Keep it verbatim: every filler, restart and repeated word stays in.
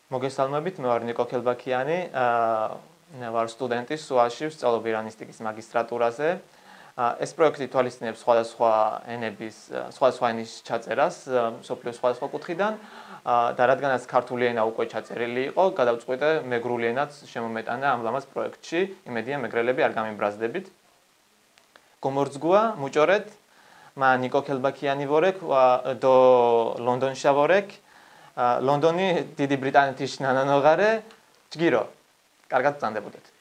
მოგესალმებით, მე ვარ ნიკო ქელბაქიანი, აა, მე ვარ სტუდენტი სუაში, ვსწავლობ ირანისტიკის მაგისტრატურაზე. აა, ეს პროექტი თვალისწინებს სხვადასხვა ენების, აა, სხვადასხვა ენის ჩაწერას, აა, მსოფლიოს სხვადასხვა კუთხიდან. აა, და რადგანაც ქართული ენა უკვე ჩაწერილი იყო, გადავწყვიტე მეგრული ენაც შემომეტანა ამ ლამაზ პროექტში. იმედია, მეგრელები, არ გამიბრაზდებით. გომორძგუა, მუჭორეთ. მა ნიკო ქელბაქიანი ვორექ, ვა, დო ლონდონშა ვორექ. აა, ლონდონი დიდი ბრიტანეთის ნანანოღარე. ჯგირო. კარგად ბრძანდებოდეთ.